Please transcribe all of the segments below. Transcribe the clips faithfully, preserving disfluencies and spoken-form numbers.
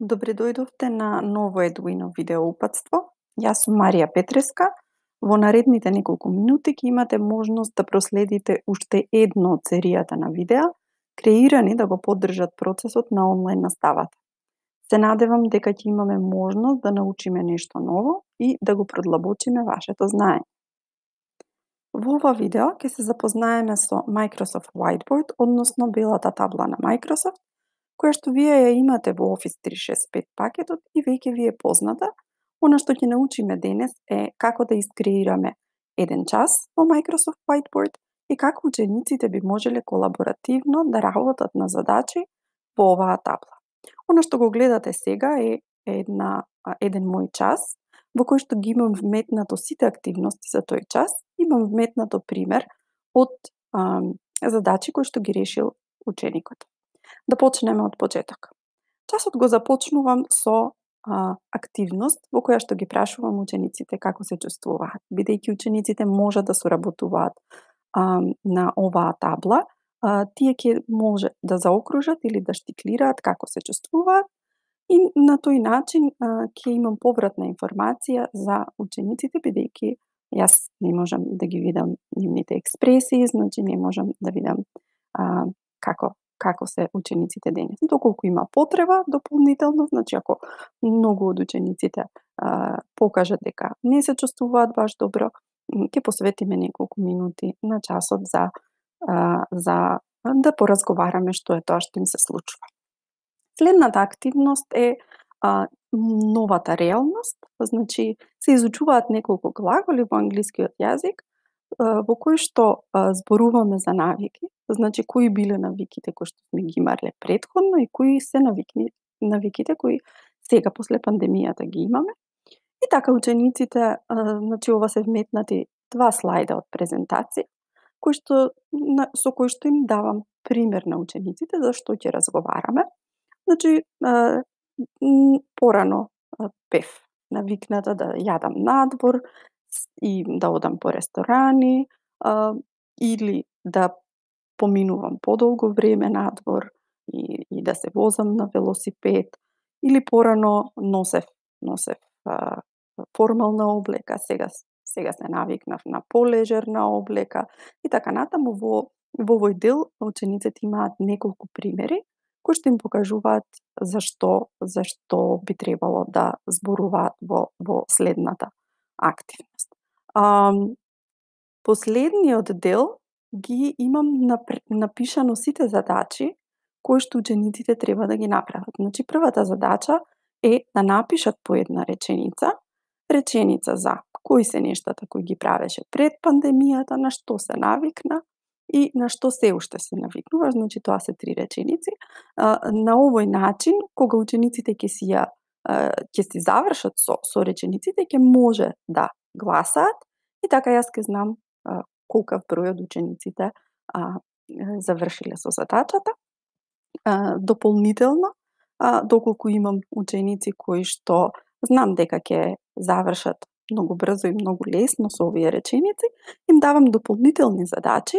Добре дојдовте на ново Едуино видео упатство. Јас сум Марија Петреска. Во наредните неколку минути ќе имате можност да проследите уште едно од серијата на видеа, креирани да го поддржат процесот на онлайн наставата. Се надевам дека ќе имаме можност да научиме нешто ново и да го продлабочиме вашето знаење. Во ова видео ќе се запознаеме со Microsoft Whiteboard, односно белата табла на Microsoft, која што вие ја имате во Office триста шесет и пет пакетот и веќе ви е позната. Она што ќе научиме денес е како да искреираме еден час во Microsoft Whiteboard и како учениците би можеле колаборативно да работат на задачи во оваа табла. Она што го гледате сега е една, еден мој час, во кој што ги имам вметнато сите активности за тој час, имам вметнато пример од а, задачи кои што ги решил ученикот. Да почнеме од почеток. Часот го започнувам со а, активност во која што ги прашувам учениците како се чувствуваат. Бидејќи учениците може да соработуваат а, на оваа табла, а, тие ќе може да заокружат или да штиклираат како се чувствуваат и на тој начин а, ќе имам повратна информација за учениците, бидејќи јас не можам да ги видам нивните експресии, значи не можам да видам а, како како се учениците денес. Доколку има потреба дополнително, значи ако многу од учениците а, покажат дека не се чувствуваат баш добро, ќе посветиме неколку минути на часот за а, за да поразговараме што е тоа што им се случува. Следната активност е а, новата реалност, значи се изучуваат неколку глаголи во англискиот јазик, во кои што а, зборуваме за навики, значи кои биле навиките кои што сме ги имале претходно и кои се навикни, навиките кои сега после пандемијата ги имаме. И така учениците, а, значи ова се вметнати два слайда од презентација, кои што, на, со кои што им давам пример на учениците за што ќе разговараме. Значи, а, порано а, бев навикната да јадам надвор, и да одам по ресторани, а, или да поминувам подолго време надвор и, и да се возам на велосипед, или порано носев, носев а, формална облека, сега, сега се навикнав на полежерна облека и така натаму. Во, во овој дел учениците имаат неколку примери кои што им покажуваат зашто, зашто би требало да зборуваат во, во следната активност. А, последниот дел ги имам напишано сите задачи кои што учениците треба да ги направат. Значи првата задача е да напишат по една реченица, реченица за кои се нештата кои ги правеше пред пандемијата, на што се навикна и на што се уште се навикнува, значи тоа се три реченици. А, на овој начин, кога учениците ќе си ја ќе си завршат со, со речениците, ќе може да гласаат и така јас ќе знам а, колкав број од учениците а, завршиле со задачата. А, дополнително, а, доколку имам ученици кои што знам дека ќе завршат многу брзо и многу лесно со овие реченици, им давам дополнителни задачи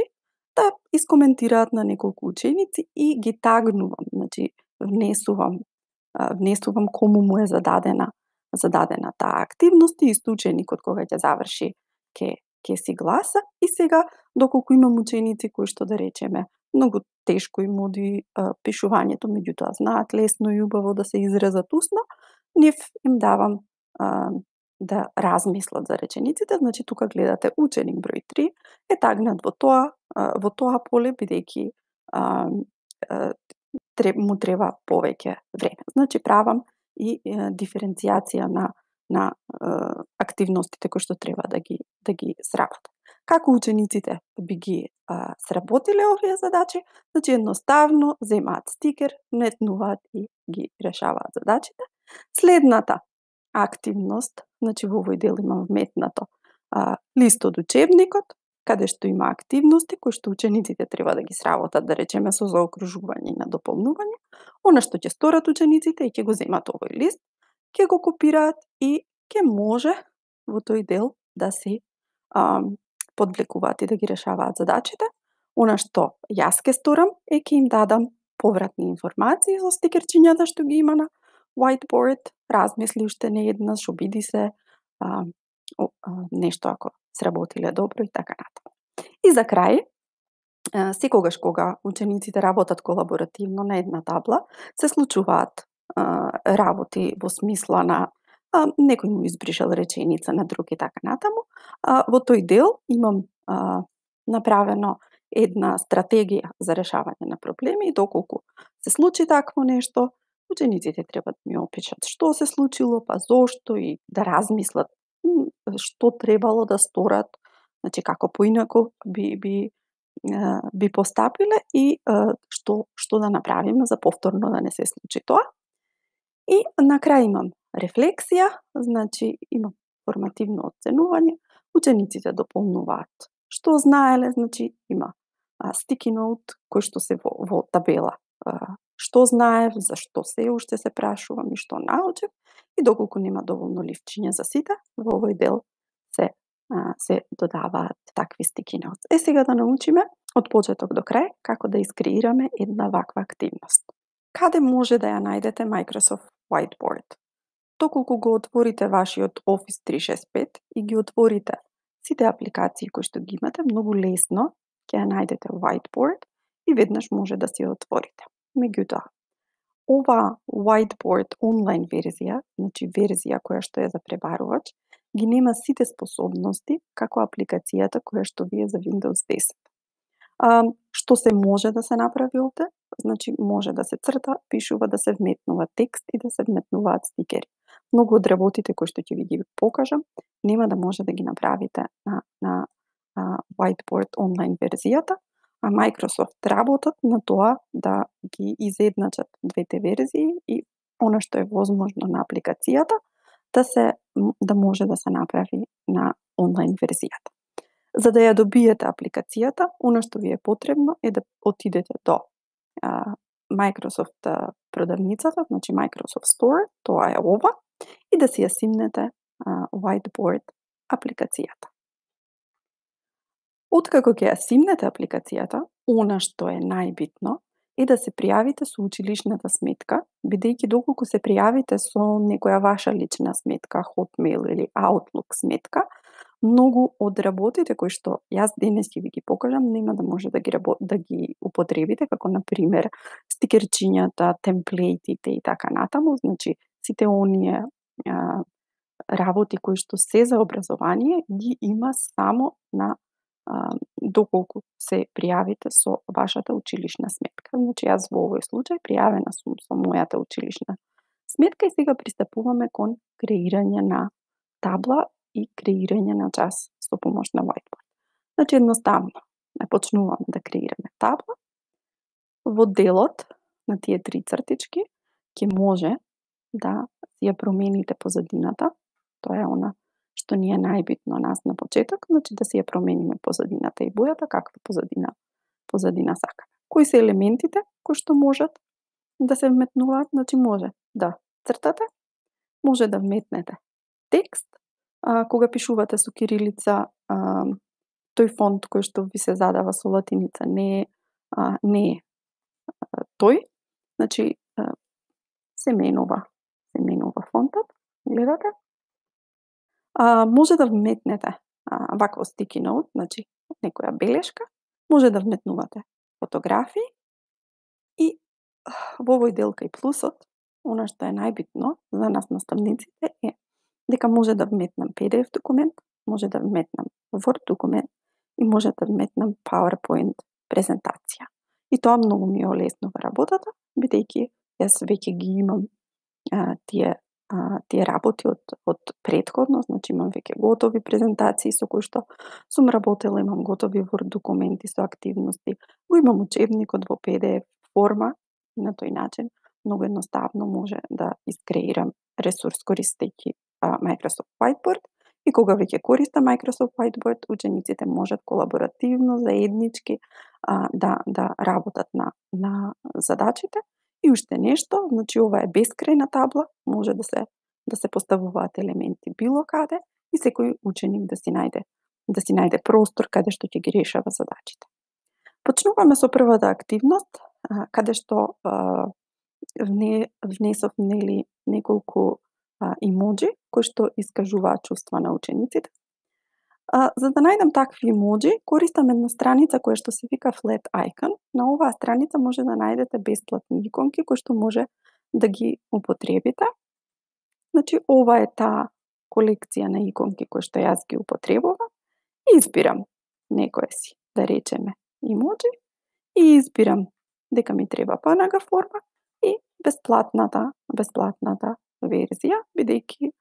да искоментираат на неколку ученици и ги тагнувам, значи внесувам внесувам кому му е зададена зададена таа активност и исто ученикот кога ќе заврши ќе ќе си гласа. И сега доколку имам ученици кои што да речеме многу тешко им оди а, пишувањето, меѓутоа знаат лесно и убаво да се изразат усно, нив им давам а, да размислат за речениците. Значи тука гледате ученик број три е тагнат во тоа а, во тоа поле, бидејќи а, а, му треба повеќе време. Значи правам и е, диференцијација на на е, активностите кои што треба да ги да ги сработат. Како учениците би ги е, сработиле овие задачи? Значи едноставно земаат стикер, метнуваат и ги решаваат задачите. Следната активност, значи во овој дел имам вметнато а, лист од учебникот, каде што има активности кои што учениците треба да ги сработат, да речеме со заокружување и на дополнување. Она што ќе сторат учениците и ќе го земат овој лист, ќе го копираат и ќе може во тој дел да се а, подвлекуваат и да ги решаваат задачите. Она што јас ќе сторам е ќе им дадам повратни информации со стикерчињата што ги има на whiteboard, размисли уште не еднаш, обиди се а, о, а, нешто ако сработиле добро и така натаму. И за крај, а, секогаш кога учениците работат колаборативно на една табла, се случуваат а, работи во смисла на а, некој му избришал реченица на друг и така натаму. А, во тој дел имам а, направено една стратегија за решавање на проблеми и доколку се случи такво нешто, учениците треба да ми опишат што се случило, па зошто и да размислат што требало да сторат, значи како поинаку би би би постапиле и што што да направиме за повторно да не се случи тоа. И на крај имам рефлексија, значи имам формативно оценување, учениците дополнуваат што знаеле, значи има sticky note кој што се во, во табела. Што знаев, зашто се уште се прашувам и што научив, и доколку нема доволно ливчиња за сите, во овој дел се се додаваат такви sticky notes. Е, сега да научиме од почеток до крај како да искреираме една ваква активност. Каде може да ја најдете Microsoft Whiteboard? Доколку го отворите вашиот Office триста шесет и пет и ги отворите сите апликации кои што ги имате, многу лесно ќе ја најдете Whiteboard и веднаш може да си ја отворите. Меѓутоа, ова Whiteboard онлайн верзија, значи верзија која што е за пребарувач, ги нема сите способности како апликацијата која што ви е за Windows десет. А, што се може да се направи овде? Значи може да се црта, пишува, да се вметнува текст и да се вметнуваат стикери. Многу од работите кои што ќе ви ги покажам, нема да може да ги направите на, на а, Whiteboard онлайн верзијата, а Microsoft работат на тоа да ги изедначат двете верзии и она што е возможно на апликацијата да се да може да се направи на онлайн верзијата. За да ја добиете апликацијата, она што ви е потребно е да отидете до а, Microsoft продавницата, значи Microsoft Store, тоа е ова, и да си ја симнете а, Whiteboard апликацијата. Откако ќе ја симнете апликацијата, она што е најбитно е да се пријавите со училишната сметка, бидејќи доколку се пријавите со некоја ваша лична сметка, Hotmail или Outlook сметка, многу од работите кои што јас денес ќе ви ги покажам, нема да може да ги да ги употребите, како на пример стикерчињата, темплейтите и така натаму, значи сите оние а, работи кои што се за образование ги има само на а, доколку се пријавите со вашата училишна сметка. Значи јас во овој случај пријавена сум со мојата училишна сметка и сега пристапуваме кон креирање на табла и креирање на час со помош на Whiteboard. Значи едноставно, не почнуваме да креираме табла. Во делот на тие три цртички ќе може да ја промените позадината. Тоа е она што ни е најбитно нас на почеток, значи да си ја промениме позадината и бојата каква позадина позадина сакаме. Кои се елементите кои што можат да се вметнуваат? Значи може да цртате, може да вметнете текст, а, кога пишувате со кирилица, а, тој фонт кој што ви се задава со латиница не е а, не е а, тој, значи а, се менува, се менува фонтот, гледате? А, може да вметнете а, вакво sticky note, значи некоја белешка, може да вметнувате фотографии и во овој дел кај плюсот, она што е најбитно за нас наставниците е дека може да вметнам пи ди еф документ, може да вметнам Word документ и може да вметнам PowerPoint презентација. И тоа многу ми олеснува работата, бидејќи јас веќе ги имам а, тие а, тие работи од од претходно, значи имам веќе готови презентации со кои што сум работела, имам готови Word документи со активности, го имам учебникот во пи ди еф форма и на тој начин многу едноставно може да искреирам ресурс користејќи Microsoft Whiteboard и кога веќе користам Microsoft Whiteboard, учениците можат колаборативно, заеднички а, да да работат на на задачите. И уште нешто, значи ова е бескрајна табла, може да се да се поставуваат елементи било каде и секој ученик да си најде да си најде простор каде што ќе ги решава задачите. Почнуваме со првата активност, а, каде што а, вне, внесов нели неколку а, имоджи кои што искажуваат чувства на учениците. А, за да најдам такви имоджи, користам една страница која што се вика Flat Icon. На оваа страница може да најдете бесплатни иконки кои што може да ги употребите. Значи, ова е таа колекција на иконки кои што јас ги употребувам. Избирам некоја си, да речеме, имоджи и избирам дека ми треба пе ен джи форма и бесплатната, бесплатната верзија, бидејќи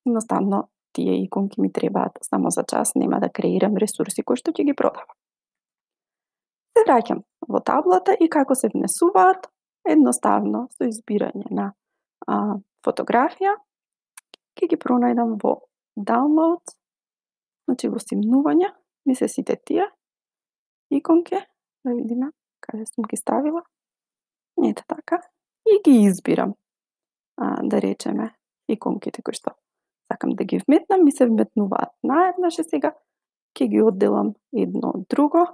едноставно тие иконки ми требаат само за час, нема да креирам ресурси кои што ќе ги продавам. Се враќам во таблата и како се внесуваат, едноставно со избирање на а, фотографија, ќе ги пронајдам во Downloads, значи во симнувања, ми се сите тие иконки, да видиме каде сум ги ставила. Ете така. И ги избирам, а, да речеме, иконките кои што сакам да ги вметнам, ми се вметнуваат наеднаш и сега ќе ги одделам едно од друго.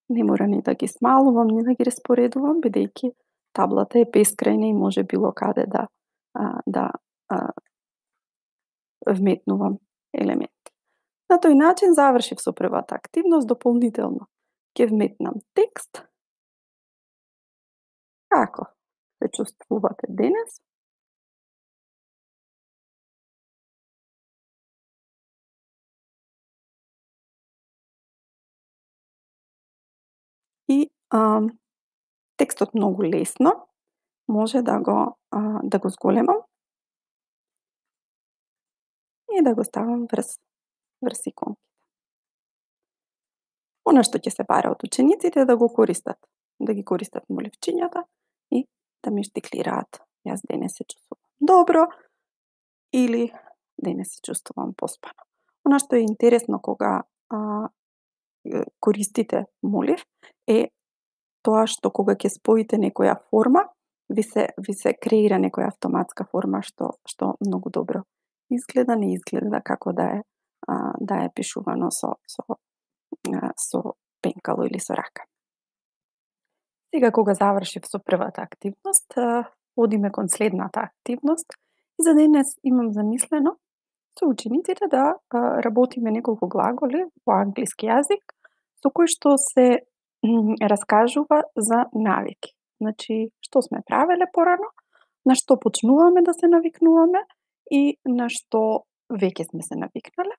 Не мора ни да ги смалувам, ни да ги распоредувам, бидејќи таблата е бескрајна и може било каде да, а, да а, вметнувам елементи. На тој начин завршив со првата активност, дополнително ќе вметнам текст. Како се чувствувате денес? И а, текстот многу лесно може да го а, да го зголемам и да го ставам врз врз иконките. Она што ќе се бара од учениците е да го користат, да ги користат моливчињата и да ми штиклираат. Јас денес се чувствувам добро или денес се чувствувам поспано. Она што е интересно кога а, користите молив е тоа што кога ќе споите некоја форма, ви се ви се креира некоја автоматска форма што што многу добро изгледа, не изгледа како да е а, да е пишувано со со а, со пенкало или со рака. Сега кога завршив со првата активност, одиме кон следната активност и за денес имам замислено со учениците да а, работиме неколку глаголи во англиски јазик со кои што се раскажува за навики. Значи, што сме правеле порано, на што почнуваме да се навикнуваме и на што веќе сме се навикнале.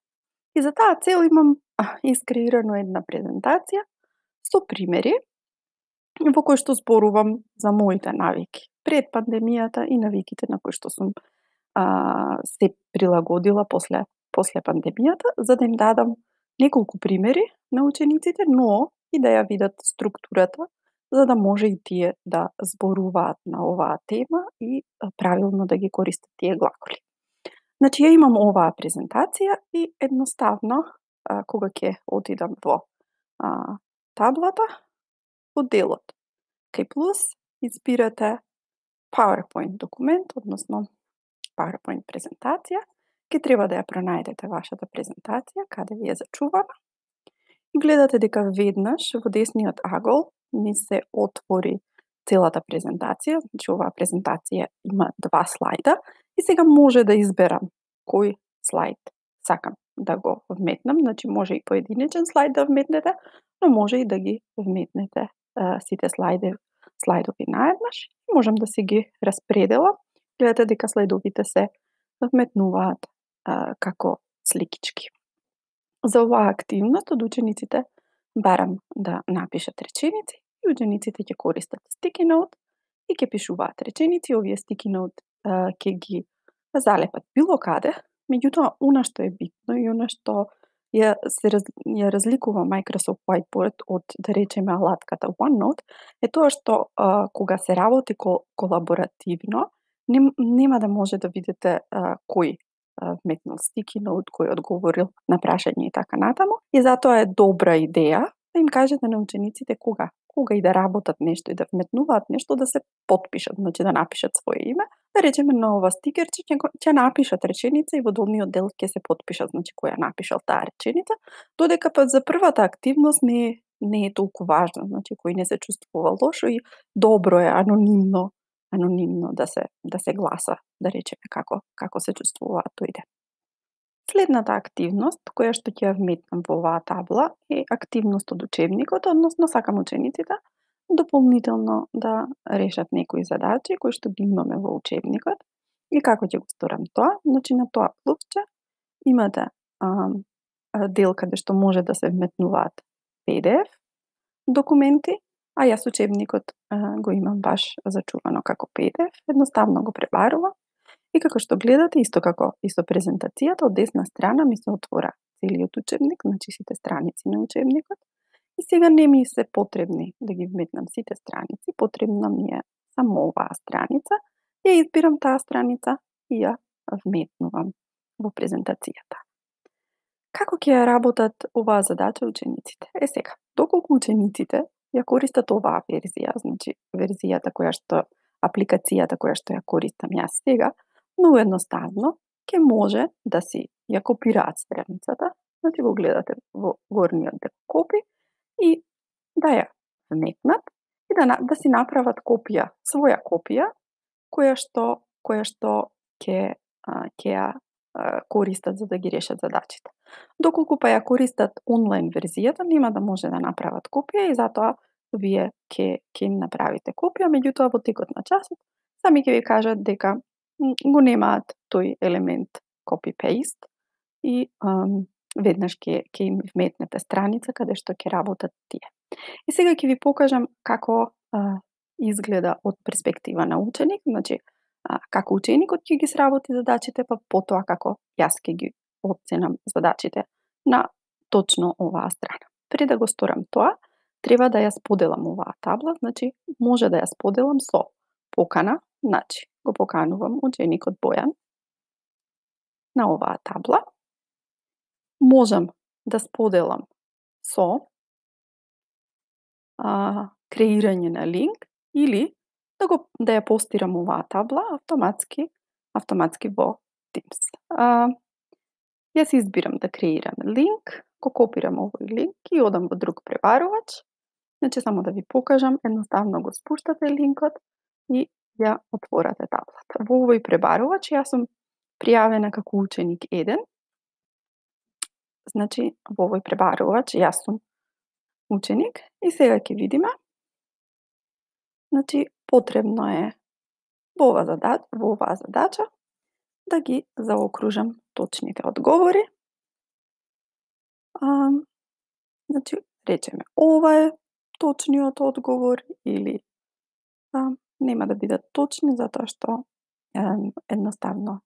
И за таа цел имам искреирано една презентација со примери во кои што зборувам за моите навики пред пандемијата и навиките на кои што сум а, се прилагодила после после пандемијата, за да им дадам неколку примери на учениците, но и да ја видат структурата, за да може и тие да зборуваат на оваа тема и правилно да ги користат тие глаголи. Значи, ја имам оваа презентација и едноставно, а, кога ќе отидам во а, таблата, во делот кај плюс, избирате PowerPoint документ, односно PowerPoint презентација, ќе треба да ја пронајдете вашата презентација, каде ви е зачувана. И гледате дека веднаш во десниот агол ни се отвори целата презентација, значи оваа презентација има два слајда и сега може да изберам кој слајд сакам да го вметнам, значи може и поединечен слајд да вметнете, но може и да ги вметнете а, сите слајде, слајдови наеднаш. Можам да си ги распределам. Гледате дека слајдовите се вметнуваат а, како сликички. За оваа активност од учениците барам да напишат реченици и учениците ќе користат sticky note и ќе пишуваат реченици. Овие sticky note а, ќе ги залепат било каде. Меѓутоа, она што е битно и она што ја, се, раз, ја разликува Microsoft Whiteboard од, да речеме, алатката OneNote, е тоа што а, кога се работи кол, колаборативно, нем, нема да може да видите а, кој вметнал sticky note, кој одговорил на прашање и така натаму. И затоа е добра идеја да им кажете на учениците кога, кога и да работат нешто и да вметнуваат нешто, да се потпишат, значи да напишат свое име. Да речеме на ова стикерче ќе, ќе напишат реченица и во долниот дел ќе се потпишат, значи кој ја напишал таа реченица, додека па за првата активност не не е толку важно, значи кој не се чувствува лошо и добро е анонимно, анонимно да се да се гласа, да речеме како како се чувствува тој ден. Следната активност која што ќе ја вметнам во оваа табла е активност од учебникот, односно сакам учениците дополнително да решат некои задачи кои што ги имаме во учебникот. И како ќе го сторам тоа? Значи на тоа клупче имате а, дел каде што може да се вметнуваат пи ди еф документи, а јас учебникот а, го имам баш зачувано како пи ди еф, едноставно го пребарувам. И како што гледате, исто како и со презентацијата, од десна страна ми се отвора целиот учебник, значи сите страници на учебникот. И сега не ми се потребни да ги вметнам сите страници, потребна ми е само оваа страница. Ја избирам таа страница и ја вметнувам во презентацијата. Како ќе ја работат оваа задача учениците? Е сега, доколку учениците ја користат оваа верзија, значи верзијата која што, апликацијата која што ја користам јас сега, многу едноставно ќе може да си ја копираат страницата, значи го гледате во горниот дел копи и да ја вметнат и да, да си направат копија, своја копија, која што која што ќе ќе ја користат за да ги решат задачите. Доколку па ја користат онлайн верзијата, нема да може да направат копија и затоа вие ќе ќе им направите копија, меѓутоа во текот на часот сами ќе ви кажат дека го немаат тој елемент copy-paste и ам, веднаш ќе ќе им вметнете страница каде што ќе работат тие. И сега ќе ви покажам како а, изгледа од перспектива на ученик, значи а, како ученикот ќе ги сработи задачите, па потоа како јас ќе ги оценам задачите на точно оваа страна. Пред да го сторам тоа, треба да ја споделам оваа табла, значи може да ја споделам со покана, значи го поканувам ученикот Бојан на оваа табла. Можам да споделам со а, креирање на линк или да го да ја постирам оваа табла автоматски автоматски во Teams. А, јас избирам да креирам линк, го копирам овој линк и одам во друг пребарувач. Значи само да ви покажам, едноставно го спуштате линкот и ја отворате таблата. Во овој пребарувач јас сум пријавена како ученик еден. Значи во овој пребарувач јас сум ученик и сега ќе видиме. Значи потребно е во оваа задача, во оваа задача да ги заокружам точните одговори. А, значи речеме ова е точниот одговор или а, нема да бидат точни затоа што е, едноставно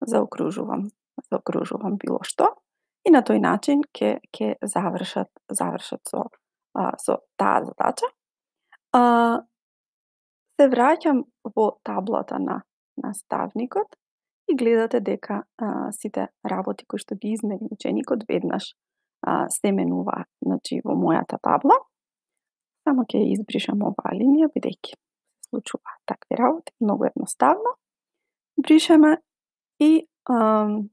заокружувам, заокружувам било што и на тој начин ќе ќе завршат завршат со а, со таа задача. А, се враќам во таблата на наставникот и гледате дека а, сите работи кои што ги измери ученикот веднаш а, се менуваат, значи во мојата табла. Само ќе избришам оваа линија бидејќи се случуваат такви работи, многу едноставно. Бришеме и ам,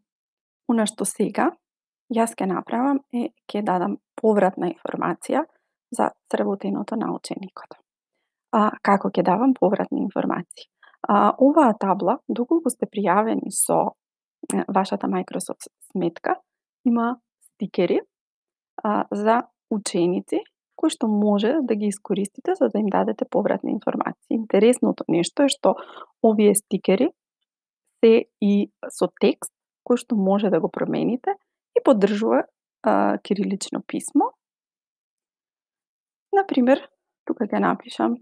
она што сега јас ќе направам е ќе дадам повратна информација за сработеното на ученикот. А, како ќе давам повратни информации? А, оваа табла, доколку сте пријавени со е, вашата Microsoft сметка, има стикери а, за ученици кои што може да ги искористите за да им дадете повратни информации. Интересното нешто е што овие стикери се и со текст кој што може да го промените и поддржува а, кирилично писмо. Например, тука ќе напишам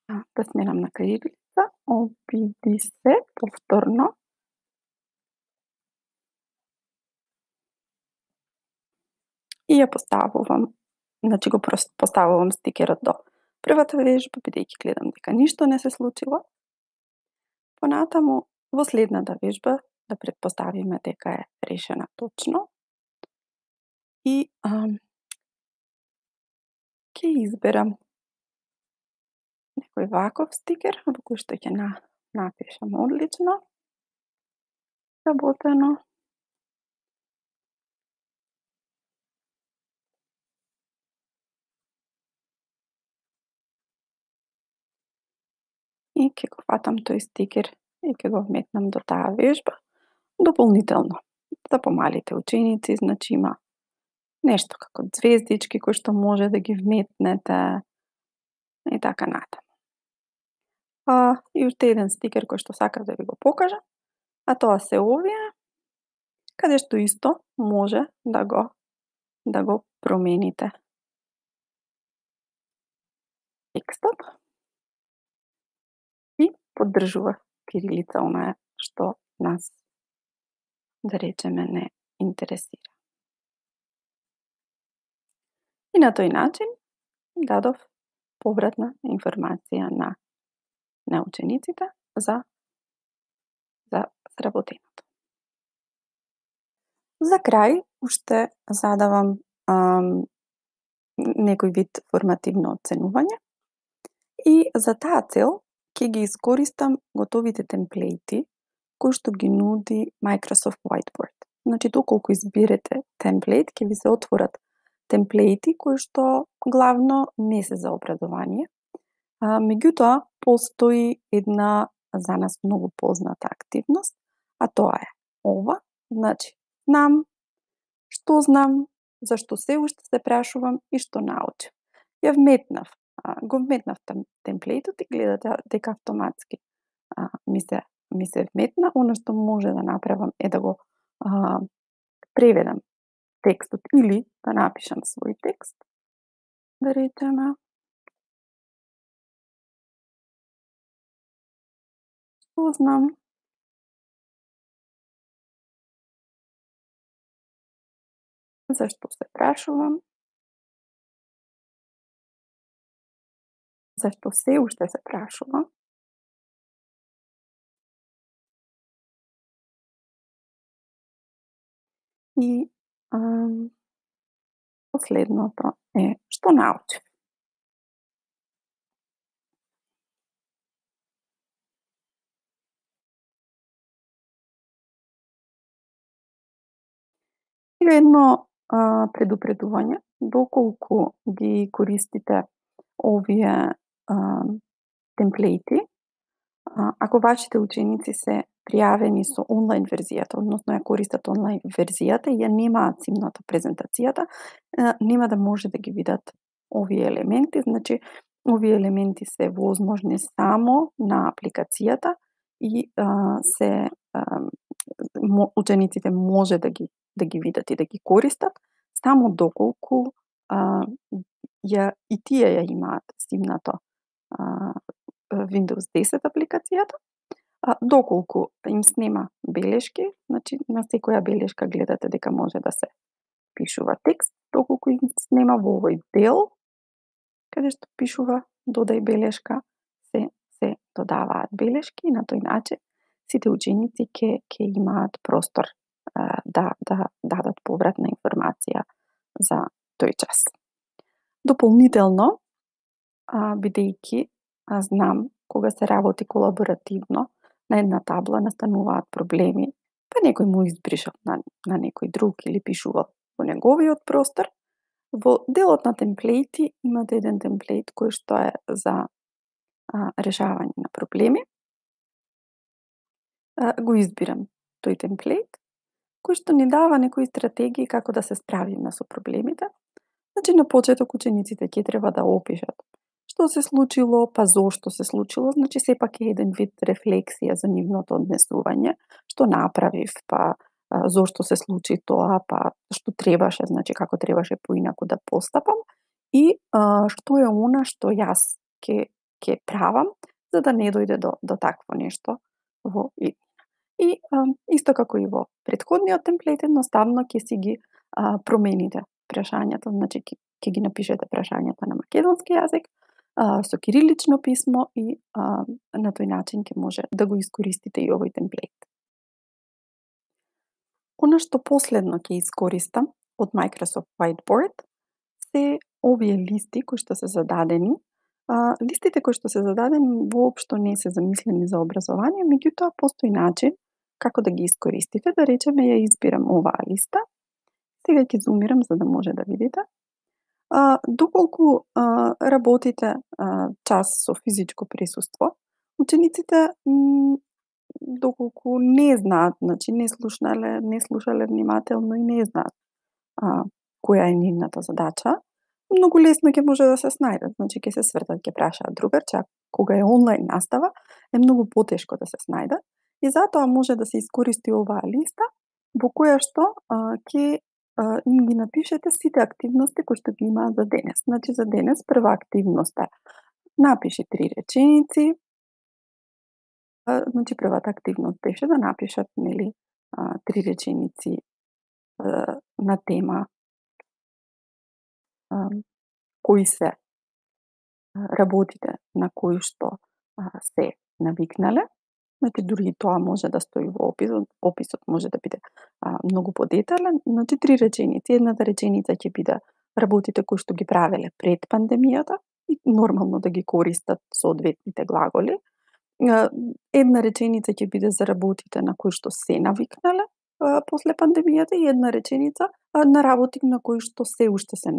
да сменам на кирилица, обиди се повторно и ја поставувам, значи го поставувам стикерот до првата вежба, бидејќи гледам дека ништо не се случило. Понатаму, во следната вежба, да претпоставиме дека е решена точно. И ам, ќе изберам некој ваков стикер, во кој што ќе на, напишам одлично, работено. и ќе го фатам тој стикер и ќе го вметнам до таа вежба. Дополнително, за помалите ученици, значи има нешто како звездички кои што може да ги вметнете и така натаму. А, и уште еден стикер кој што сакав да ви го покажам, а тоа се овие, каде што исто може да го да го промените текстот и поддржува кирилица, онаа што нас, да речеме, не интересира. И на тој начин дадов повратна информација на на учениците за за сработеното. За крај уште задавам ам, некој вид формативно оценување и за таа цел ќе ги искористам готовите темплејти кои што ги нуди Microsoft Whiteboard. Значи, доколку изберете темплејт, ќе ви се отворат темплејти кои што главно не се за образование. А, меѓутоа, постои една за нас многу позната активност, а тоа е ова. Значи, знам, што знам, зашто се уште се прашувам и што научив. Ја вметнав, а, го вметнав темплејтот и гледате дека автоматски а, ми се ми се вметна. Она што може да направам е да го а, преведам текстот или да напишам свој текст. Да речеме, што знам, зашто се прашувам, зашто се уште се прашувам, и ам, последното е што научив. И едно а, предупредување, доколку ги користите овие а, темплејти, а, ако вашите ученици се пријавени со онлайн верзијата, односно ја користат онлайн верзијата и ја немаат симната презентацијата, а, нема да може да ги видат овие елементи. Значи, овие елементи се возможни само на апликацијата и а, се а, учениците може да ги да ги видат и да ги користат, само доколку а, ја, и тие ја имаат симнато а, Windows десет апликацијата, а, доколку им снема белешки, значи на секоја белешка гледате дека може да се пишува текст, доколку им снема во овој дел, каде што пишува додај белешка, се се додаваат белешки и на тој начин сите ученици ќе ќе имаат простор а, да да дадат повратна информација за тој час. Дополнително, а, бидејќи а знам кога се работи колаборативно на една табла настануваат проблеми, па некој му избришал на, на некој друг или пишувал во неговиот простор. Во делот на темплејти имате еден темплејт кој што е за а, решавање на проблеми. А, го избирам тој темплејт кој што ни дава некои стратегии како да се справиме со проблемите. Значи, на почеток учениците ќе треба да опишат што се случило, па зошто се случило, значи сепак е еден вид рефлексија за нивното однесување, што направив, па зошто се случи тоа, па што требаше, значи како требаше поинаку да постапам и а, што е она што јас ќе ќе правам за да не дојде до до такво нешто во иднина. И а, исто како и во претходниот темплејт, едноставно ќе си ги а, промените прашањата, значи ќе ги напишете прашањата на македонски јазик, а, со кирилично писмо и а, на тој начин ќе може да го искористите и овој темплејт. Она што последно ќе искористам од Microsoft Whiteboard се овие листи кои што се зададени. А, листите кои што се зададени воопшто не се замислени за образование, меѓутоа постои начин како да ги искористите. Да речеме, ја избирам оваа листа. Сега ќе зумирам за да може да видите. А, доколку а, работите а, час со физичко присуство, Учениците м, доколку не знаат, значи не слушнале, не слушале внимателно и не знаат а, која е нивната задача, многу лесно ќе може да се снајдат. Значи ќе се свртат, ќе прашаат другарче, а кога е онлайн настава, е многу потешко да се снајдат и затоа може да се искористи оваа листа во која што а, ќе а, им ги напишете сите активности кои што ги имаат за денес. Значи за денес прва активност е напиши три реченици. А, значи првата активност беше да напишат, нели, а, три реченици а, на тема а, кои се работите на кои што а, се навикнале. Значи дури и тоа може да стои во описот, описот може да биде а, многу подетален. Значи три реченици, едната реченица ќе биде работите кои што ги правеле пред пандемијата и нормално да ги користат соодветните глаголи. Една реченица ќе биде за работите на кои што се навикнале а, после пандемијата и една реченица а, на работи на кои што се уште се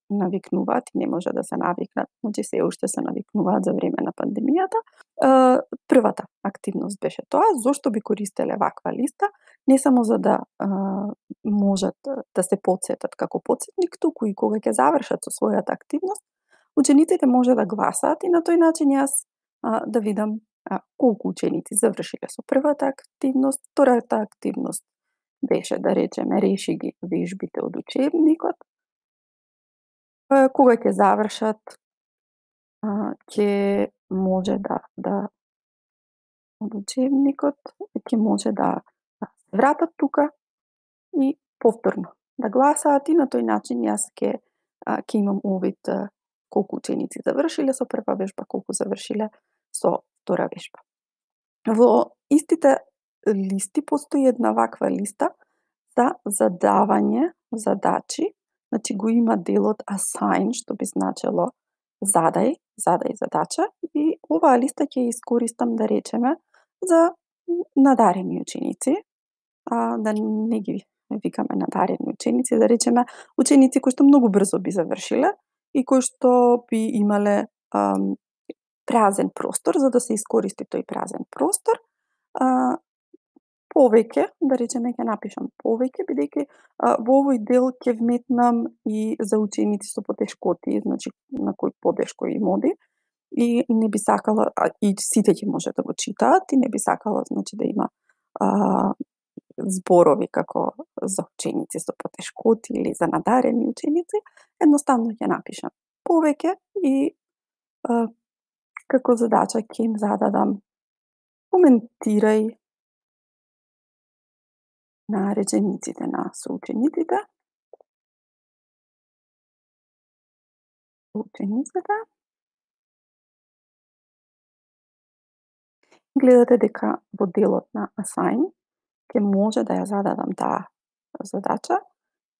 навикнуваат и не може да се навикнат, значи се уште се навикнуваат за време на пандемијата. А, првата активност беше тоа, зошто би користеле ваква листа, не само за да а, можат да се потсетат како потсетник, туку и кога ќе завршат со својата активност, учениците може да гласаат и на тој начин јас а, да видам а, колку ученици завршиле со првата активност. Втората активност беше, да речеме, реши ги вежбите од учебникот. А, кога ќе завршат, а, ќе може да, да од учебникот, ќе може да се вратат тука и повторно да гласаат и на тој начин јас ќе ќе имам увид колку ученици завршиле со прва вежба, колку завршиле со втора вежба. Во истите листи постои една ваква листа за задавање задачи, значи го има делот assign, што би значело задај, задај задача и оваа листа ќе искористам, да речеме, за надарени ученици, а да не ги викаме надарени ученици, да речеме ученици кои што многу брзо би завршиле и кои што би имале ам, празен простор, за да се искористи тој празен простор. А, повеќе, да речеме, ќе напишам повеќе, бидејќи во овој дел ќе вметнам и за ученици со потешкоти, значи на кои потешко им оди, и не би сакала, а, и сите ќе може да го читаат, и не би сакала, значи, да има а, зборови како за ученици со потешкоти или за надарени ученици, едноставно ќе напишам повеќе и а, како задача ќе им зададам коментирај на речениците на соучениците. Учениците. Гледате дека во делот на assign ќе може да ја зададам таа задача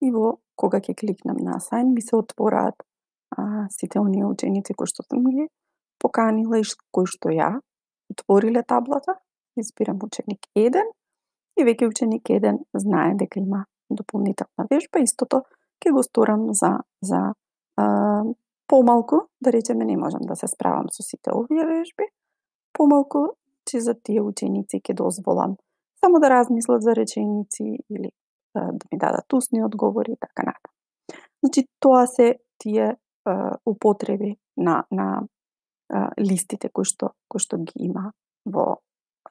и во кога ќе кликнам на assign ми се отвораат а, сите оние ученици кои што сум ги поканила и кои што ја отвориле таблата. Избирам ученик еден и веќе ученик еден знае дека има дополнителна вежба. Истото ќе го сторам за, за а, помалку, да речеме не можам да се справам со сите овие вежби, помалку, че за тие ученици ќе дозволам само да размислат за реченици или а, да ми дадат устни одговори и така натаму. Значи тоа се тие а, употреби на, на а, листите кои што, кои што ги има во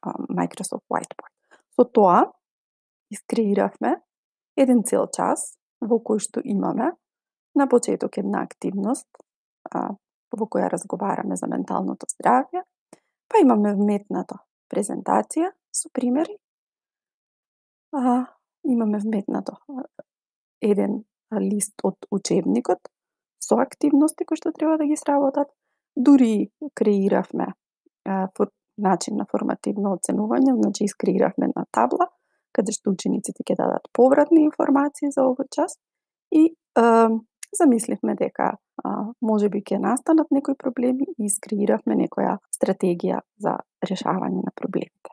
а, Microsoft Whiteboard. Со тоа искреиравме еден цел час во кој што имаме на почеток една активност а, во која разговараме за менталното здравје, па имаме вметнато презентација со примери, а, имаме вметнато еден лист од учебникот со активности кои што треба да ги сработат, дури креиравме а, фор, начин на формативно оценување, значи искреиравме на табла, каде што учениците ќе дадат повратни информации за овој час и а, замисливме дека а, може би ќе настанат некои проблеми и искреиравме некоја стратегија за решавање на проблемите.